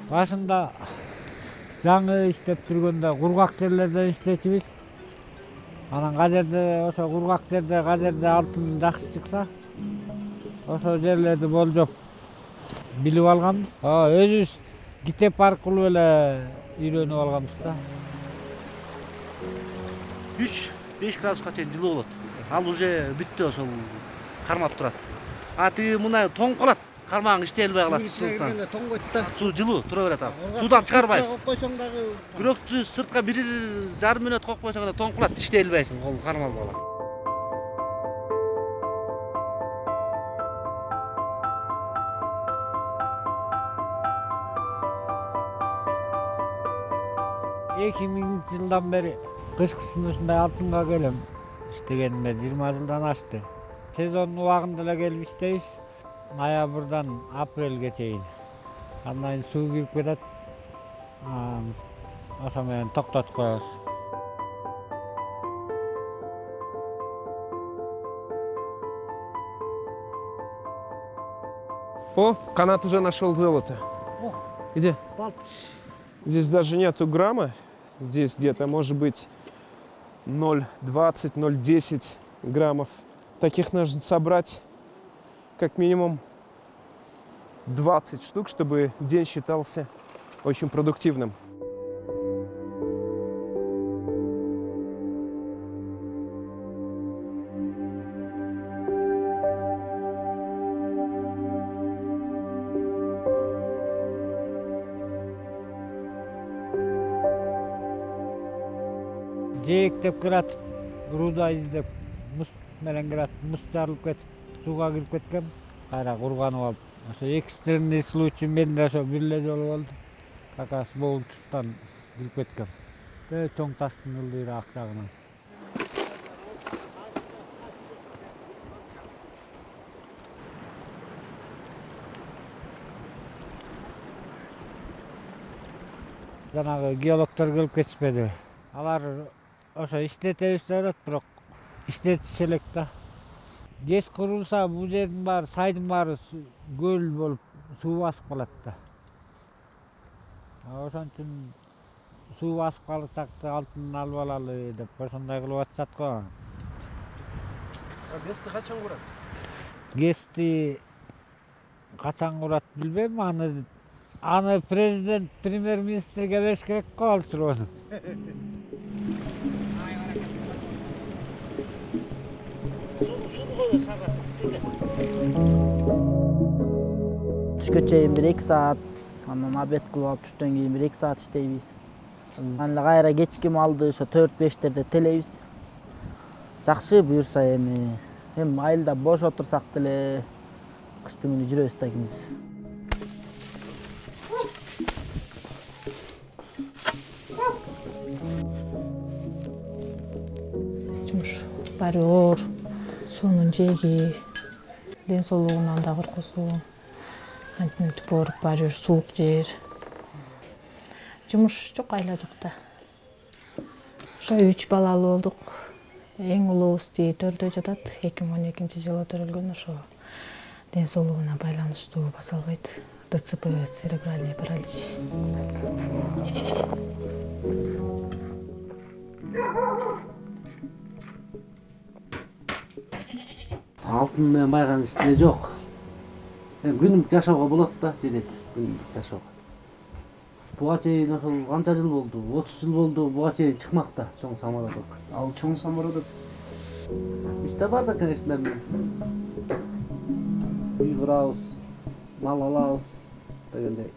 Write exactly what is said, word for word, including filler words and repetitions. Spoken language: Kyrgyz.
Башында жаңы иштеп жүргөндө кургак жерлерден иштечүбүз. Анан казерде ошо кургак жерде казерде алтын жакшы чыкса, ошо жерлерди болжоп билип алганбыз. Өзүбүз китеп аркылуу эле үйрөнүп алганбыз да. үч беш градуска чейин жылуу болот. Ал уже бүттү, ошол кармап турат. А тиги мына тоңуп калат. Кармагың иштей албай калат. Тоңбойт да. Суу жылуу тура берет ал. Суудан чыгарбайсың. Коюп койсоң дагы Күрөктү сыртка бир жарым мүнөт коюп койсоң да тоңуп калат, иштей албайсың, кол кармалып калат. эки миңинчи жылдан бери кышкысын ушундай алтынга келем. Иштегениме жыйырма жылдан ашты. Сезон убагында эле келип иштейбиз. Ноябрдан апрелге чейин. Андан кийин суу кирип кетет. Ошо менен токтотуп коебуз. О, канат уже нашел золото. О, Где? балпыш. Здесь даже нету грамма. Здесь где-то может быть ноль двадцать, ноль десять граммов. Таких нужно собрать как минимум двадцать штук, чтобы день считался очень продуктивным. Жээктеп киратып, руда издеп, мус менен киратып, мус жарылып кетип, сууга кирип кеткен, кайра курганып алып. Ошо экстренный случай менде ошо бир эле жолу болду. Как раз могул туштан кирип кеткен. Бөө чоң таштын ылдыйраак жагынан. Жанагы геологдор келип кетишпеди. Алар ошо иштетебиз деп атат, бирок иштетиши элек да. ГЭС курулса, бул жердин баары, сайдын баары көл болуп суу басып калат да. Ошон үчүн суу басып калсак да алтынын алып алалы деп ошондой кылып атышат го. ГЭСти качан курат? ГЭСти качан курат билбейм, аны аны президент, премьер-министрге бериш керек го ал суроону. Түшкө чейин бир эки саат, анан обед кылып алып түштөн кийин бир эки саат иштейбиз. Анан кайра кечки малды ошо төрт бештерде телейбиз. Жакшы буюрса эми, эми айылда бош отурсак деле кыштын күнү жүрөбүз да күндүз. Жумуш баары оор, суунун жээги, ден соолугунан да коркосу. Антип ооруп баары бир суук жер. Жумуш жок, айла жок да. Ошо үч балалуу болдук. Эң улуубуз тиги төрдө жатат. эки миң он экинчи жылы төрөлгөн, ошо ден соолугуна байланыштуу баса албайт. ДЦП, церебральный паралич. Алтын менен байган иште жок. Эми күнүмдүк жашоого болот да, жетет күнүмдүк жашоого. Буга чейин ошол канча жыл болду? отуз жыл болду, буга чейин чыкмак да чоң самородок. Ал чоң самородок Иште бар да, конечно, үй курабыз, мал алабыз дегендей.